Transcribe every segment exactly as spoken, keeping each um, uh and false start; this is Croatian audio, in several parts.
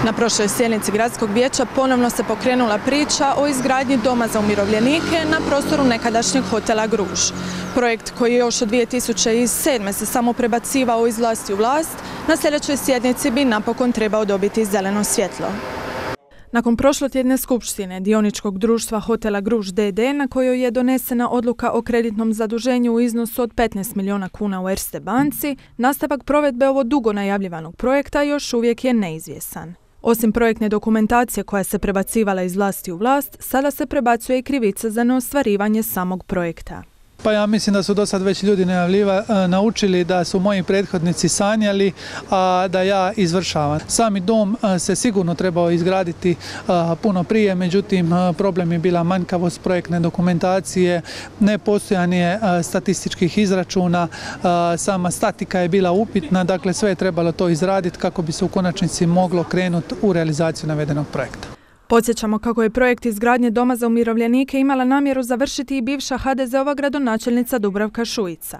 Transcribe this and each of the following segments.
Na prošloj sjednici Gradskog vijeća ponovno se pokrenula priča o izgradnji doma za umirovljenike na prostoru nekadašnjeg hotela Gruž. Projekt koji još od dvije tisuće sedme se samo prebacivao iz vlasti u vlast, na sljedećoj sjednici bi napokon trebao dobiti zeleno svjetlo. Nakon prošlotjedne skupštine dioničkog društva hotela Gruž d d na kojoj je donesena odluka o kreditnom zaduženju u iznosu od petnaest milijuna kuna u Erste banci, nastavak provedbe ovo dugo najavljivanog projekta još uvijek je neizvjesan. Osim projektne dokumentacije koja se prebacivala iz vlasti u vlast, sada se prebacuje i krivica za neostvarivanje samog projekta. Pa ja mislim da su do sad već ljudi najavljiva, naučili da su moji prethodnici sanjali, a da ja izvršavam. Sami dom se sigurno trebao izgraditi puno prije, međutim problem je bila manjkavost projektne dokumentacije, nepostojanje statističkih izračuna, sama statika je bila upitna, dakle sve je trebalo to izraditi kako bi se u konačnici moglo krenuti u realizaciju navedenog projekta. Podsjećamo kako je projekt izgradnje doma za umirovljenike imala namjeru završiti i bivša ha de ze ova gradonačelnica Dubravka Šuica.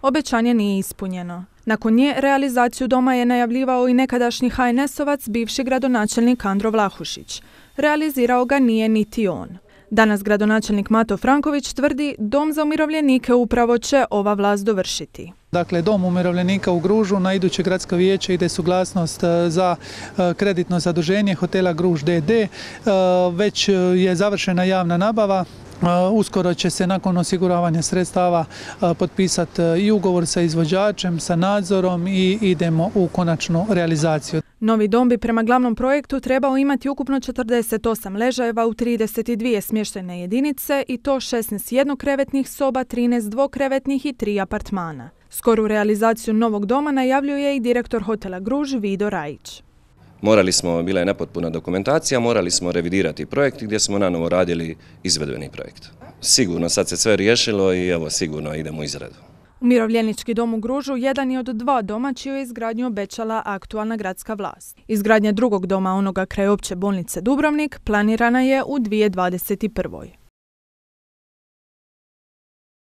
Obećanje nije ispunjeno. Nakon nje realizaciju doma je najavljivao i nekadašnji ha en esovac, bivši gradonačelnik Andro Vlahušić. Realizirao ga nije niti on. Danas gradonačelnik Mato Franković tvrdi dom za umirovljenike upravo će ova vlast dovršiti. Dakle, dom umirovljenika u Gružu, na iduće gradsko vijeće ide suglasnost za kreditno zaduženje hotela Gruž d d. Već je završena javna nabava. Uskoro će se nakon osiguravanja sredstava potpisati i ugovor sa izvođačem, sa nadzorom i idemo u konačnu realizaciju. Novi dom bi prema glavnom projektu trebao imati ukupno četrdeset osam ležajeva u trideset dvije smještajne jedinice i to šesnaest jednokrevetnih soba, trinaest dvokrevetnih i tri apartmana. Skoru realizaciju novog doma najavljuje i direktor hotela Gruž Vido Rajić. Morali smo, bila je nepotpuna dokumentacija, morali smo revidirati projekt gdje smo nanovo radili izvedbeni projekt. Sigurno sad se sve riješilo i evo sigurno idemo u izradu. Umirovljenički dom u Gružu jedan je od dva doma čiju je izgradnju obećala aktualna gradska vlast. Izgradnja drugog doma, onoga kraj opće bolnice Dubrovnik, planirana je u dvije tisuće dvadeset prvoj.